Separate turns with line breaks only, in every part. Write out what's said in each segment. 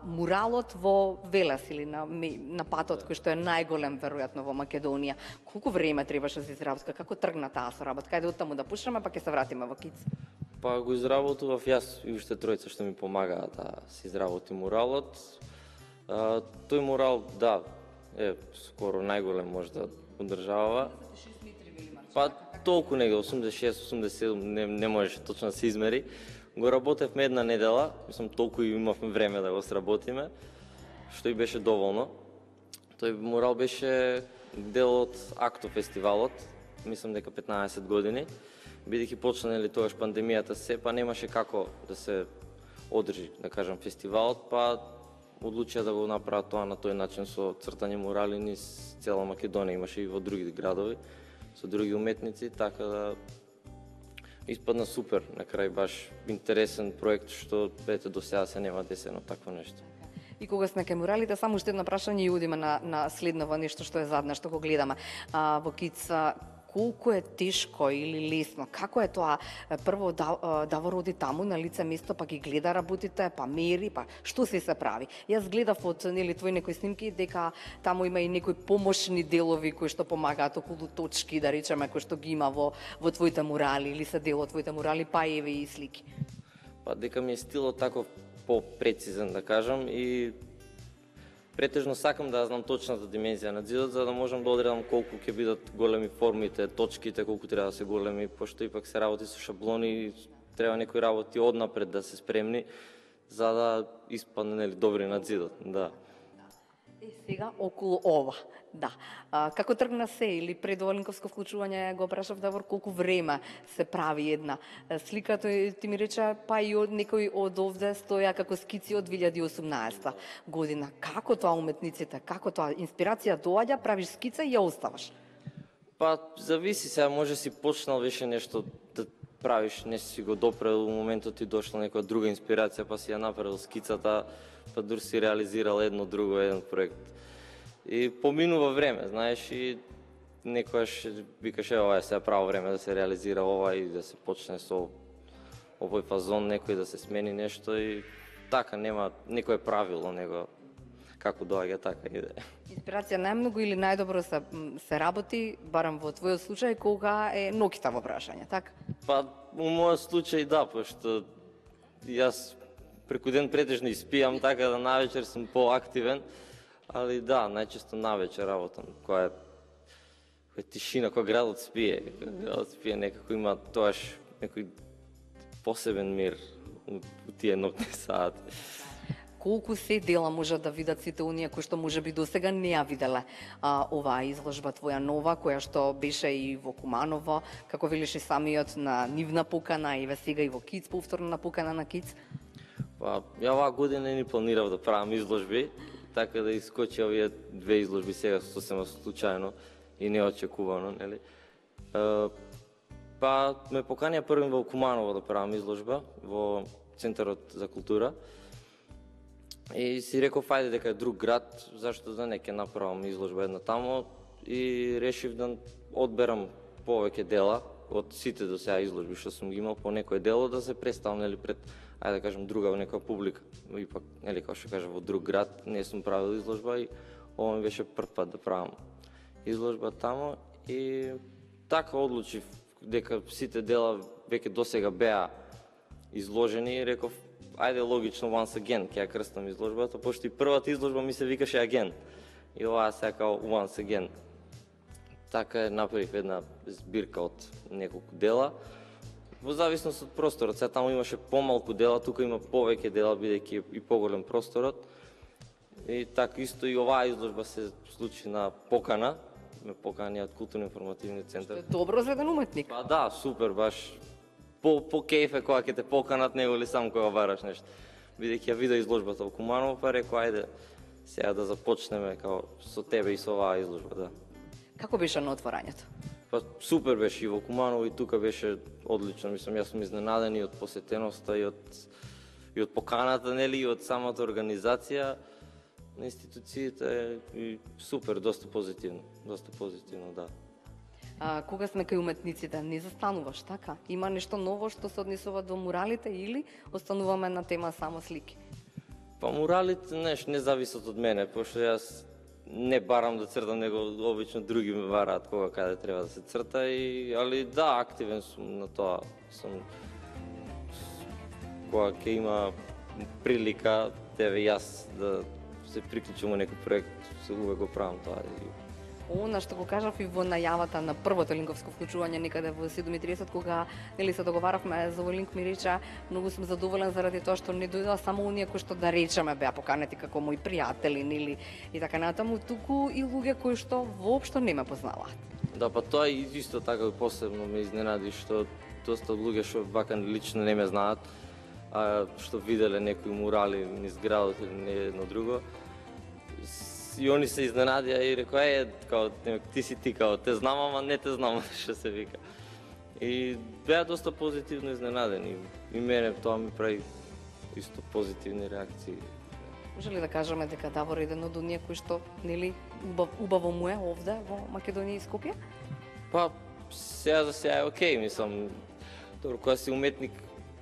муралот во Велес или на патот кој што е најголем веројатно во Македонија. Колку време требаше да се изработи? Како тргна таа соработка? Кајде од таму да пушнеме, па ќе се вратиме во Киц.
Па го изработував јас и уште тројца што ми помагаа да се изработи муралот. Тој мурал, да, е скоро најголем можда од државава. Па толку нега 86-87 не можеше точно да се измери. Го работевме една недела, мислам толку и имавме време да го сработиме, што и беше доволно. Тој мурал беше дел од Акто фестивалот, мислам дека 15 години. Бидејќи почна тогаш пандемијата па немаше како да се одржи, да кажам, фестивалот, па одлучија да го направат тоа на тој начин со цртање мурали низ цела Македонија, имаше и во други градови, со други уметници, така да испадна супер, на крај баш интересен проект што ете до сега се нема десено такво нешто.
И кога сме кај муралите, само уште едно прашање и одиме на следново нешто што е задна, што го гледаме. Во Киц, колку е тешко или лесно? Како е тоа? Прво Давор оди таму на лице место, па ги гледа работите, па мери, па што се прави? Јас гледав од твои некои снимки дека таму има и некои помошни делови кои што помагаат околу точки, да речеме, кои што ги има во твоите мурали или се дел од твоите мурали, па еве и слики.
Па дека ми е стилот таков попрецизен, да кажам, и претежно сакам да знам точната димензија на зидот, за да можам да одредам колку ќе бидат големи формите, точките, колку треба да се големи, пошто ипак се работи со шаблони, треба некои работи однапред да се спремни, за да испадне добри на зидот, да.
Сега околу ова, да. Како тргна се или пред Оленковско вклучување го прашав Давор колку време се прави една слика, тој ти ми рече па и од некој од овде стоја како скици од 2018 година. Како тоа уметниците, како тоа инспирација доаѓа, правиш скица и ја оставаш?
Па зависи, сега може си почнал веше нешто да правиш, не си го допрел, во моментот ти дошла некоја друга инспирација, па си ја направил скицата, па дур си реализирал еден проект. И поминува време, знаеш, и некојаш викаш, ова е сега право време да се реализира ова и да се почне со овој фазон, некој да се смени нешто и така, нема некое правило, него како доаѓа, така иде.
Инспирација најмногу или најдобро се работи, барам во твојот случај, кога е ноќта во прашање, така?
Па, во мојот случај да, пошто јас преку ден претежно испијам, така да навечер сум поактивен, али да, најчесто навечер работам, која е тишина, која градот спие, некако има тоаш некој посебен мир у тие ноќни сати.
Колку се дела можат да видат сите оние кои што можеби досега не ја виделе оваа изложба твоја нова, која што беше и во Куманово, како велиш и самиот на нивна покана, и сега и во Киц, повторно на покана на Киц?
Па, ја оваа година не планирав да правам изложби, така да искочи овие две изложби сега сосема случајно и неочекувано, нели? Па, ме поканија првим во Куманово да правам изложба во Центарот за култура. И си реков, ајде дека е друг град, зашто да не ќе направам изложба една тамо, и решив да одберам повеќе дела од сите до сега изложби што сум ги имал, по некој дело да се представам, нели, пред, ајде да кажем, друга некоја публика. Ипак, нели, како што кажа, во друг град не сум правил изложба и ова ми беше прв пат да правам изложба тамо, и така одлучив дека сите дела веќе досега беа изложени и реков, ајде логично once again ќе ја крстам изложбата, пошто и првата изложба ми се викаше Again. И оваа сега као once again. Така направив една збирка од неколку дела. Во зависност од просторот, сега таму имаше помалку дела, тука има повеќе дела, бидејќи и поголем просторот. И така исто и оваа изложба се случи на покана, ме поканија од културно-информативниот центар.
Што е добро за еден уметник.
Па да, супер, баш по кејф е кога ќе те поканат, него ли сам кога бараш нешто. Бидејќи ја видов изложбата во Куманово, па рекол, ајде сега да започнеме као со тебе и со оваа изложба, да.
Како беше на отворањето?
Па супер беше и во Куманово, и тука беше одлично, мислам, јас сум изненаден и од посетеноста, и од поканата, нели, и од самата организација на институциите, и супер, доста позитивно, да.
Кога сме кај уметниците, не застануваш, така? Има нешто ново што се однесува до муралите или остануваме на тема само слики?
Па муралите, не зависат од мене, пошто јас не барам да цртам, него обично други ме бараат кога каде треба да се црта, али да, активен сум на тоа. Кога ќе има прилика, тебе јас да се приклучам во некој проект, се увек го правам тоа.
Она што го кажав и во најавата на првото линковско вклучување некаде во 7:30, кога се договаравме за овој линк, ми рече многу сум задоволен заради тоа што не дојдоа само оние кои што да речеме беа поканети како мои пријатели нели и така натаму, туку и луѓе кои што воопшто не ме познаваат.
Да, па тоа и исто така посебно ме изненади што доста луѓе што вака лично не ме знаат, а што виделе некои мурали низ градот или не едно друго. И они се изненадија и рекоа, као, ти си ти, као, те знам, ама не те знам, што се вика. И беа доста позитивно изненадени. И мене тоа ми прави исто позитивни реакции.
Може ли да кажеме дека Давор е еден од оние кои што, нели, убаво му е овде во Македонија и Скопје?
Па, сега за сега е окей, мислам. Добро, кога си уметник,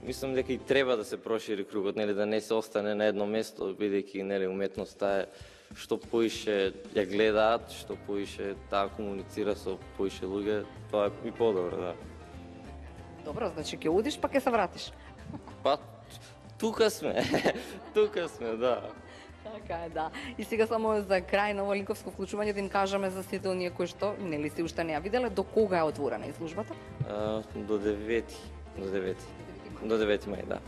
мислам дека и треба да се прошири кругот, нели, да не се остане на едно место, бидејќи, нели, уметноста е што поише ја гледаат, што поише таа комуницира со поише луѓе, тоа е и подобро, да.
Добро, значи ќе одиш па ќе се вратиш.
Па, тука сме, тука сме, да.
Така е, да. И сега само за крај на ово линковско вклучување да им кажеме за сите оние кои што, нели, се уште не ја виделе, до кога е отворена изложбата?
До 9. До 9 мај, да.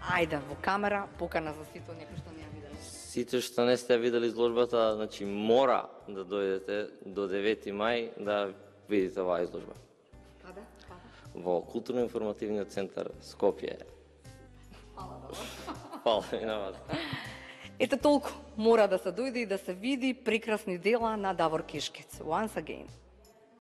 Ајде, во камера, покана за сите оние кои што не ја виделе.
Сите што не сте видели изложбата, значи мора да дојдете до 9 мај да видите оваа изложба.
Каде?
Во Културно-информативниот центар Скопје. Фала ви на вас.
Ете толку, мора да се дојде и да се види прекрасни дела на Давор Кишкец. Once again.